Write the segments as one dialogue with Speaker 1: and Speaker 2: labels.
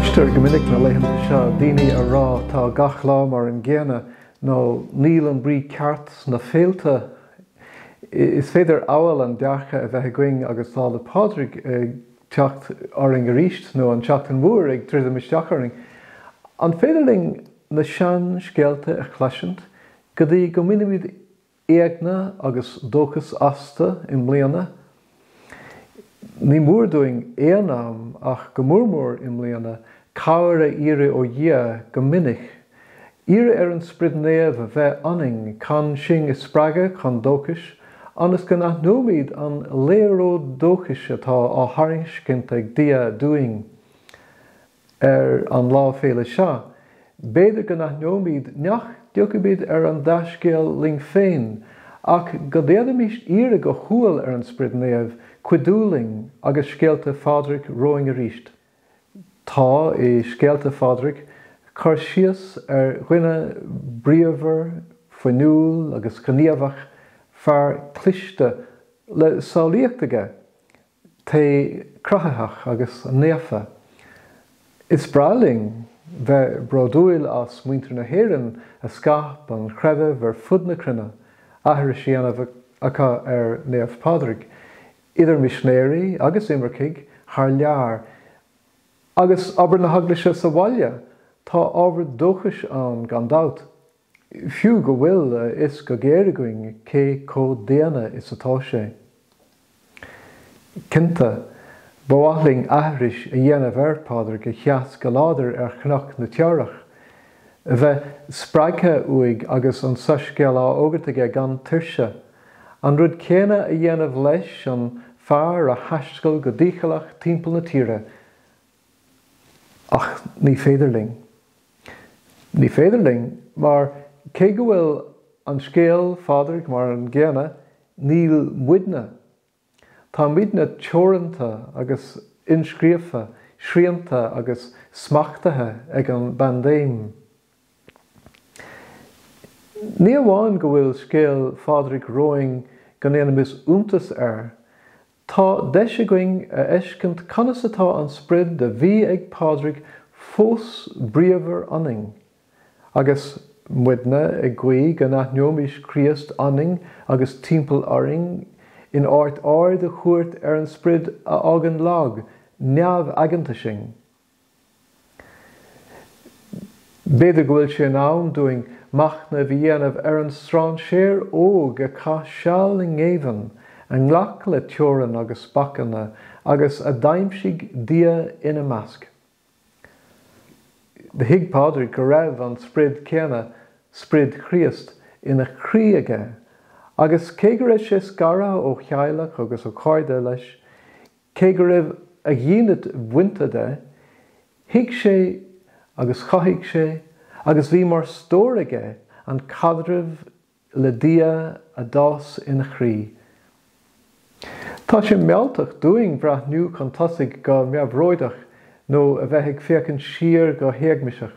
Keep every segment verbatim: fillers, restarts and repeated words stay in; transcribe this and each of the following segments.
Speaker 1: Cloistear go minic na laethanta seo daoine a rá tá gach lá mar an gcéanna nó níl an brí ceart sna féilte. Is féidir amhail an dearcadh a bheith againn agus Lá 'le Pádraig ag teacht orainn arís nó an tSeachtain Mhór ag druidim isteach orainn. An féidir linn na seanscéalta a chloisint go dtí go mbainfimid eagna agus dóchas astu i mbliana? Ní mór dúinn aon am ach go mór mór i mbliana cabhair a iarraidh ó Dhia go minic. Iarraidh ar an Sprid Naomh a bheith ionainn chun sinn a spreagadh chun dóchais, ionas go n-aithneoimid an léaráid dóchais atá á thairiscint ag Dia dúinn ar an lá féile seo. B'fhéidir go n-aithneoimid nach dtiocfaimid ar an dea-scéal linn féin, ach go d'fhéadfaimis iarraidh go humhal ar an Sprid Naomh cuidiú linn agus scéalta Phádraig romhainn arís. Tá i scéalta Phádraig cur síos ar dhuine bríomhar, fuinniúil agus gníomhach, fear cliste le samhlaíocht aige, tae cruthaitheach agus naofa. Is breá linn bheith bródúil as muintir na hÉireann a scaip an creideamh ar fud na cruinne, aithris á dhéanamh acu ar Naomh Pádraig, idir misinéirí agus imircigh thar lear, agus obair na hEaglaise sa bhaile, tá ábhar dóchais ann gan dabht, fiú go bhfuil a fhios go géar againn cé chomh daonna is atá sé. Cinnte, ba mhaith linn aithris a dhéanamh ar Phádraig a sheas go láidir ar Chnoc na Teamhrach, a bheith spreagtha uaidh agus an soiscéal á fhógairt aige gan tuirse, an rud céanna a dhéanamh leis an fear a thaistil go dícheallach timpeall na tíre, ach ní féidir linn. Ní féidir linn mar cé go bhfuil an scéal Phádraig mar an gcéanna, níl muidne. Tá muidne teoranta agus inscríofa, srianta agus smachtaithe ag an bpaindéim. Ní amháin go bhfuil scéal Phádraig romhainn go ndéanaimis iontas air, tá deis againn a fheiscint conas atá an sprid a bhí ag Pádraig fós bríomhar ionainn, agus muidne ag guí go n-aithneoimis Críost ionainn agus timpeall orainn in áit aird a thabhairt ar an sprid a fhágann lag, neamhaigeanta sinn. B'fhéidir go bhfuil sé in am dúinn machnamh a dhéanamh ar an strainséir óg a chaith seal i ngéibheann, a ghlac le teorainn agus bacanna agus a d'aimsigh Dia ina measc. Thuig Pádraig go raibh an sprid céanna, sprid Chríost, ina chroí aige, agus cé go raibh sé scartha ó theaghlach agus ó chairde leis, cé go raibh a dhínit bainte de, thuig sé agus chothaigh sé agus bhí mar stór aige an caidreamh le Dia a d'fhás ina chroí. Tá sé mealltach dúinn breathnú chun tosaigh go neamhróideach nó a bheith ag féachaint siar go héagmaiseach.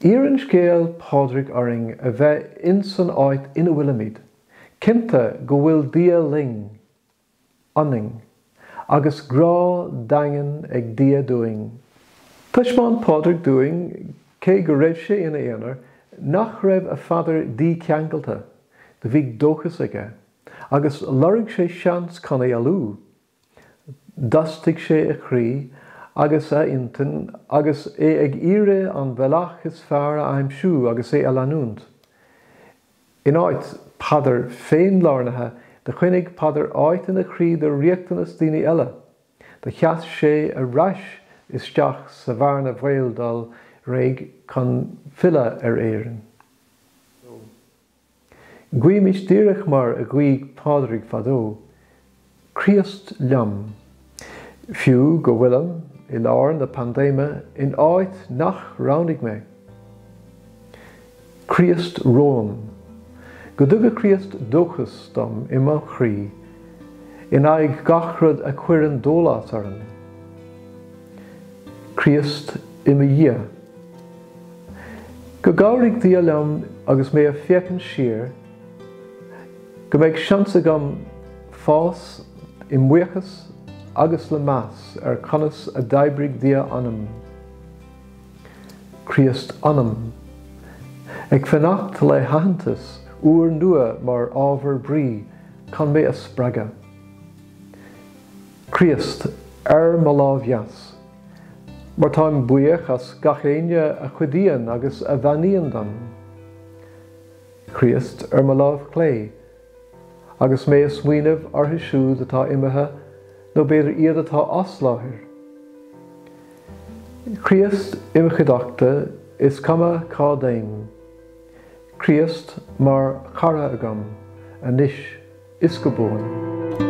Speaker 1: Iarrann scéal Phádraig orainn a bheith in san áit ina bhfuilimid, cinnte go bhfuil Dia linn, ionainn, agus grá daingean ag Dia dúinn. Thaispeáin Pádraig dúinn, cé go raibh sé ina aonar, nach raibh a phaidir dícheangailte, do bhí dóchas aige, agus lorg sé seans chun éalú. D'fhostaigh sé a chroí agus a intinn agus é ag iarraidh an bealach is fearr a aimsiú agus é a leanúint. In áit paidir féinlárnaithe, do choinnigh Peadar áit ina chroí do riachtanas daoine eile. Do sheas sé ar ais isteach sa bhearna bhaoil dul réidh chun filleadh ar Éirinn. Guímis díreach mar a ghuigh Pádraig fadó, Críost liom, fiú go bhfuilim i lár na paindéime in áit nach roghnaigh mé. Críost romham, go dtuga Críost dóchas dom i mo chroí, in aghaidh gach rud a chuireann dólás orm. Críost i mo dhiaidh. Go gcabhraigh Dia liom agus mé ag féachaint siar, go mbeidh seans agam fás i mbuíochas agus le meas ar conas a d'oibrigh Dia ionam. Críost ionam. Ag fanacht le haitheantas úrnua mar ábhar brí chun mé a spreagadh. Críost ar mo lámh dheas, mar táim buíoch as gach éinne a chuidíonn agus a bheannaíonn dom. Críost ar mo lámh chlé, agus mé ag smaoineamh orthu siúd atá imithe nó b'fhéidir iad atá as láthair. Críost im chuideachta is cuma cá dtéim. Críost mar chara agam anois is go buan.